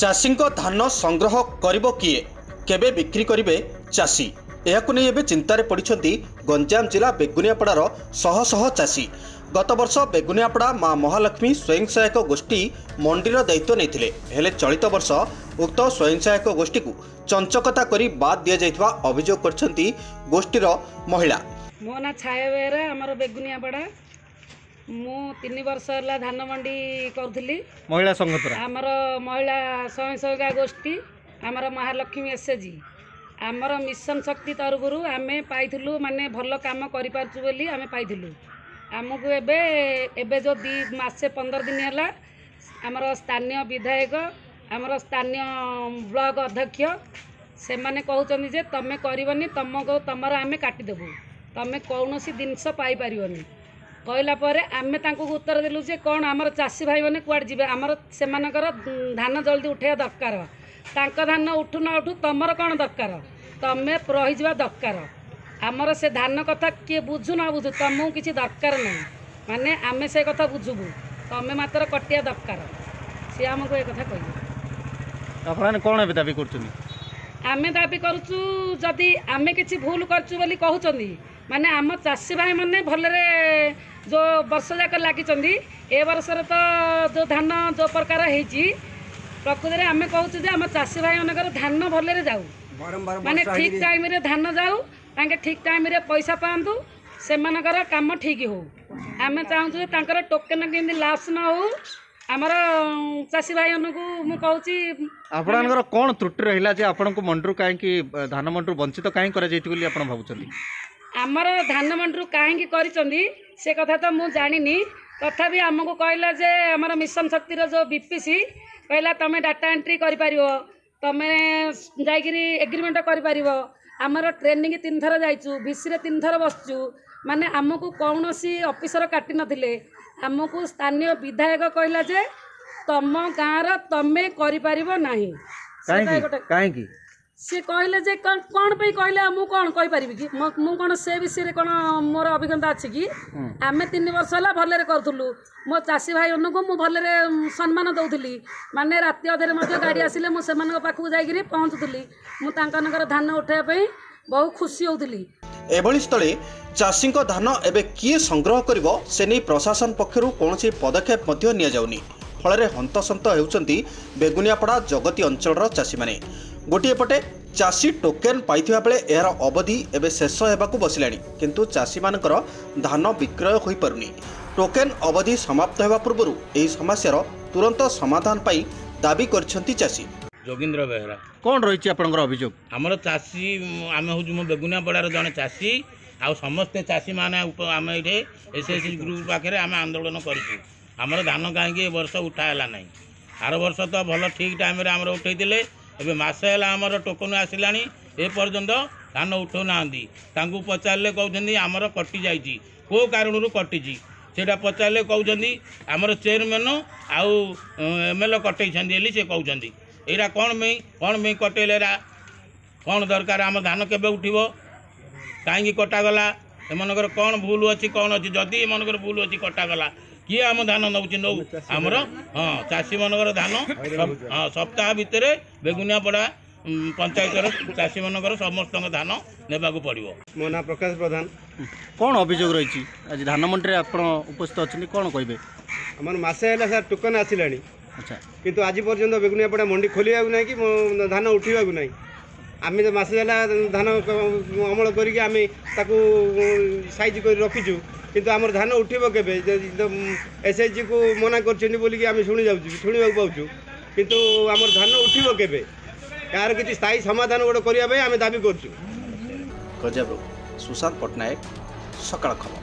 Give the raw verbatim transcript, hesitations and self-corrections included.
ଚାଷୀଙ୍କ ଧାନ ସଂଗ୍ରହ କରିବ କିଏ, କେବେ ବିକ୍ରି କରିବେ ଚାଷୀ, ଏହାକୁ ନେଇ ଏବେ ଚିନ୍ତାରେ ପଡ଼ିଛନ୍ତି ଗଞ୍ଜାମ ଜିଲ୍ଲା ବେଗୁନିଆପଡ଼ାର ଶହ ଶହ ଚାଷୀ। ଗତବର୍ଷ ବେଗୁନିଆପଡ଼ା ମା ମହାଲକ୍ଷ୍ମୀ ସ୍ୱୟଂ ସହାୟକ ଗୋଷ୍ଠୀ ମଣ୍ଡିର ଦାୟିତ୍ୱ ନେଇଥିଲେ। ହେଲେ ଚଳିତ ବର୍ଷ ଉକ୍ତ ସ୍ୱୟଂ ସହାୟକ ଗୋଷ୍ଠୀକୁ ଚଞ୍ଚକତା କରି ବାଦ୍ ଦିଆଯାଇଥିବା ଅଭିଯୋଗ କରିଛନ୍ତି ଗୋଷ୍ଠୀର ମହିଳା। ମୋ ନାଁ ଛାୟା ବେହେରା, ଆମର ବେଗୁନିଆପଡ଼ା। ମୁଁ ତିନି ବର୍ଷ ହେଲା ଧାନ ମଣ୍ଡି କରୁଥିଲି ମହିଳା ସଂଘ ଦ୍ୱାରା। ଆମର ମହିଳା ସ୍ୱୟଂ ସହାୟିକା ଗୋଷ୍ଠୀ, ଆମର ମହାଲକ୍ଷ୍ମୀ ଏସ୍ ଏଚ୍ ଜି, ଆମର ମିଶନ ଶକ୍ତି ତରଫରୁ ଆମେ ପାଇଥିଲୁ, ମାନେ ଭଲ କାମ କରିପାରୁଛୁ ବୋଲି ଆମେ ପାଇଥିଲୁ। ଆମକୁ ଏବେ ଏବେ ଯେଉଁ ଦୁଇ ମାସେ ପନ୍ଦର ଦିନ ହେଲା ଆମର ସ୍ଥାନୀୟ ବିଧାୟକ, ଆମର ସ୍ଥାନୀୟ ବ୍ଲକ ଅଧ୍ୟକ୍ଷ ସେମାନେ କହୁଛନ୍ତି ଯେ ତମେ କରିବନି, ତମକୁ ତମର ଆମେ କାଟିଦେବୁ, ତମେ କୌଣସି ଜିନିଷ ପାଇପାରିବନି। କହିଲା ପରେ ଆମେ ତାଙ୍କୁ ଉତ୍ତର ଦେଲୁ ଯେ କ'ଣ ଆମର ଚାଷୀ ଭାଇମାନେ କୁଆଡ଼େ ଯିବେ? ଆମର ସେମାନଙ୍କର ଧାନ ଜଲ୍ଦି ଉଠେଇବା ଦରକାର। ତାଙ୍କ ଧାନ ଉଠୁ ନ ଉଠୁ ତମର କ'ଣ ଦରକାର? ତମେ ରହିଯିବା ଦରକାର। ଆମର ସେ ଧାନ କଥା କିଏ ବୁଝୁ ନ ବୁଝୁ ତମକୁ କିଛି ଦରକାର ନାହିଁ, ମାନେ ଆମେ ସେ କଥା ବୁଝିବୁ, ତମେ ମାତ୍ର କଟିବା ଦରକାର। ସିଏ ଆମକୁ ଏ କଥା କହିବେ। ଆପଣମାନେ କ'ଣ ଏବେ ଦାବି କରୁଛନ୍ତି? ଆମେ ଦାବି କରୁଛୁ, ଯଦି ଆମେ କିଛି ଭୁଲ କରିଛୁ ବୋଲି କହୁଛନ୍ତି, ମାନେ ଆମ ଚାଷୀ ଭାଇମାନେ ଭଲରେ ଯେଉଁ ବର୍ଷ ଯାକ ଲାଗିଛନ୍ତି, ଏ ବର୍ଷରେ ତ ଯେଉଁ ଧାନ ଯେଉଁ ପ୍ରକାର ହେଇଛି, ପ୍ରକୃତରେ ଆମେ କହୁଛୁ ଯେ ଆମ ଚାଷୀ ଭାଇମାନଙ୍କର ଧାନ ଭଲରେ ଯାଉ, ମାନେ ଠିକ୍ ଟାଇମ୍ରେ ଧାନ ଯାଉ, ତାଙ୍କେ ଠିକ୍ ଟାଇମ୍ରେ ପଇସା ପାଆନ୍ତୁ, ସେମାନଙ୍କର କାମ ଠିକ୍ ହଉ। ଆମେ ଚାହୁଁଛୁ ଯେ ତାଙ୍କର ଟୋକେନ୍ କେମିତି ଲାପ୍ସ ନ ହଉ। ଆମର ଚାଷୀ ଭାଇମାନଙ୍କୁ ମୁଁ କହୁଛି, ଆପଣଙ୍କର କ'ଣ ତ୍ରୁଟି ରହିଲା ଯେ ଆପଣଙ୍କୁ ମଣ୍ଡିରୁ କାହିଁକି, ଧାନ ମଣ୍ଡିରୁ ବଞ୍ଚିତ କାହିଁକି କରାଯାଇଛି ବୋଲି ଆପଣ ଭାବୁଛନ୍ତି? ଆମର ଧାନ ମଣ୍ଡିରୁ କାହିଁକି କରିଛନ୍ତି ସେ କଥା ତ ମୁଁ ଜାଣିନି। ତଥାପି ଆମକୁ କହିଲା ଯେ ଆମର ମିଶନ ଶକ୍ତିର ଯେଉଁ ବି ପି ସି କହିଲା ତୁମେ ଡାଟା ଏଣ୍ଟ୍ରି କରିପାରିବ, ତୁମେ ଯାଇକିରି ଏଗ୍ରିମେଣ୍ଟ କରିପାରିବ। ଆମର ଟ୍ରେନିଂ ତିନିଥର ଯାଇଛୁ, ଭିସିରେ ତିନିଥର ବସିଛୁ, ମାନେ ଆମକୁ କୌଣସି ଅଫିସର କାଟି ନଥିଲେ। ଆମକୁ ସ୍ଥାନୀୟ ବିଧାୟକ କହିଲା ଯେ ତମ ଗାଁର ତମେ କରିପାରିବ ନାହିଁ। କାହିଁକି ସିଏ କହିଲେ ଯେ କ'ଣ ପାଇଁ କହିଲେ ମୁଁ କ'ଣ କହିପାରିବି କି? ମୁଁ କ'ଣ ସେ ବିଷୟରେ କ'ଣ ମୋର ଅଭିଜ୍ଞତା ଅଛି କି? ଆମେ ତିନି ବର୍ଷ ହେଲା ଭଲରେ କରୁଥିଲୁ, ମୋ ଚାଷୀ ଭାଇମାନଙ୍କୁ ମୁଁ ଭଲରେ ସମ୍ମାନ ଦେଉଥିଲି, ମାନେ ରାତି ଅଧରେ ମଧ୍ୟ ଗାଡ଼ି ଆସିଲେ ମୁଁ ସେମାନଙ୍କ ପାଖକୁ ଯାଇକିରି ପହଞ୍ଚୁଥିଲି, ମୁଁ ତାଙ୍କମାନଙ୍କର ଧାନ ଉଠାଇବା ପାଇଁ ବହୁ ଖୁସି ହେଉଥିଲି। ଏଭଳି ସ୍ଥଳେ ଚାଷୀଙ୍କ ଧାନ ଏବେ କିଏ ସଂଗ୍ରହ କରିବ ସେ ନେଇ ପ୍ରଶାସନ ପକ୍ଷରୁ କୌଣସି ପଦକ୍ଷେପ ମଧ୍ୟ ନିଆଯାଉନି। ଫଳରେ ହନ୍ତସନ୍ତ ହେଉଛନ୍ତି ବେଗୁନିଆପଡ଼ା ଜଗତି ଅଞ୍ଚଳର ଚାଷୀମାନେ। ଗୋଟିଏ ପଟେ ଚାଷୀ ଟୋକେନ୍ ପାଇଥିବା ବେଳେ ଏହାର ଅବଧି ଏବେ ଶେଷ ହେବାକୁ ବସିଲାଣି, କିନ୍ତୁ ଚାଷୀମାନଙ୍କର ଧାନ ବିକ୍ରୟ ହୋଇପାରୁନି। ଟୋକେନ୍ ଅବଧି ସମାପ୍ତ ହେବା ପୂର୍ବରୁ ଏହି ସମସ୍ୟାର ତୁରନ୍ତ ସମାଧାନ ପାଇଁ ଦାବି କରିଛନ୍ତି ଚାଷୀ। ଯୋଗୀନ୍ଦ୍ର ବେହେରା। କ'ଣ ରହିଛି ଆପଣଙ୍କର ଅଭିଯୋଗ? ଆମର ଚାଷୀ, ଆମେ ହେଉଛୁ ମୁଁ ବେଗୁନିଆପଡ଼ାର ଜଣେ ଚାଷୀ, ଆଉ ସମସ୍ତେ ଚାଷୀମାନେ ଆମେ ଏଇଠି ଏସ୍ ଏସ୍ ଗ୍ରୁପ୍ ପାଖରେ ଆମେ ଆନ୍ଦୋଳନ କରିଛୁ। ଆମର ଧାନ କାହିଁକି ଏ ବର୍ଷ ଉଠା ହେଲା ନାହିଁ? ଆର ବର୍ଷ ତ ଭଲ ଠିକ୍ ଟାଇମ୍ରେ ଆମର ଉଠେଇଥିଲେ। ଏବେ ମାସେ ହେଲା ଆମର ଟୋକନ ଆସିଲାଣି, ଏ ପର୍ଯ୍ୟନ୍ତ ଧାନ ଉଠାଉନାହାନ୍ତି। ତାଙ୍କୁ ପଚାରିଲେ କହୁଛନ୍ତି ଆମର କଟିଯାଇଛି। କେଉଁ କାରଣରୁ କଟିଛି ସେଇଟା ପଚାରିଲେ କହୁଛନ୍ତି ଆମର ଚେୟାରମ୍ୟାନ୍ ଆଉ ଏମ୍ ଏଲ୍ ଏ କଟେଇଛନ୍ତି ବୋଲି ସେ କହୁଛନ୍ତି। ଏଇଟା କ'ଣ ପାଇଁ, କ'ଣ ପାଇଁ କଟେଇଲେ? ଏଇଟା କ'ଣ ଦରକାର? ଆମ ଧାନ କେବେ ଉଠିବ? କାହିଁକି କଟାଗଲା? ଏମାନଙ୍କର କ'ଣ ଭୁଲ ଅଛି? କ'ଣ ଅଛି? ଯଦି ଏମାନଙ୍କର ଭୁଲ ଅଛି କଟାଗଲା, କିଏ ଆମ ଧାନ ନେଉଛି ନେଉ ଆମର। ହଁ, ଚାଷୀମାନଙ୍କର ଧାନ ହଁ ସପ୍ତାହ ଭିତରେ ବେଗୁନିଆପଡ଼ା ପଞ୍ଚାୟତର ଚାଷୀମାନଙ୍କର ସମସ୍ତଙ୍କ ଧାନ ନେବାକୁ ପଡ଼ିବ। ମୋ ନାଁ ପ୍ରକାଶ ପ୍ରଧାନ। କ'ଣ ଅଭିଯୋଗ ରହିଛି? ଆଜି ଧାନ ମଣ୍ଡିରେ ଆପଣ ଉପସ୍ଥିତ ଅଛନ୍ତି, କ'ଣ କହିବେ? ଆମର ମାସେ ହେଲା ସାର୍ ଟୋକନ ଆସିଲାଣି। ଆଚ୍ଛା। କିନ୍ତୁ ଆଜି ପର୍ଯ୍ୟନ୍ତ ବେଗୁନିଆପଡ଼ା ମଣ୍ଡି ଖୋଲିବାକୁ ନାହିଁ କି ଧାନ ଉଠିବାକୁ ନାହିଁ। ଆମେ ତ ମାସେ ହେଲା ଧାନ ଅମଳ କରିକି ଆମେ ତାକୁ ସାଇଜ୍ କରି ରଖିଛୁ, କିନ୍ତୁ ଆମର ଧାନ ଉଠିବ କେବେ? ଏସ୍ ଏଚ୍ ଜିକୁ ମନା କରିଛନ୍ତି ବୋଲିକି ଆମେ ଶୁଣି ଯାଉଛୁ, ଶୁଣିବାକୁ ପାଉଛୁ, କିନ୍ତୁ ଆମର ଧାନ ଉଠିବ କେବେ? ଏହାର କିଛି ସ୍ଥାୟୀ ସମାଧାନ ଗୋଟେ କରିବା ପାଇଁ ଆମେ ଦାବି କରୁଛୁ। ଗଞ୍ଜାମରୁ ସୁଶାନ୍ତ ପଟ୍ଟନାୟକ, ସକାଳ ଖବର।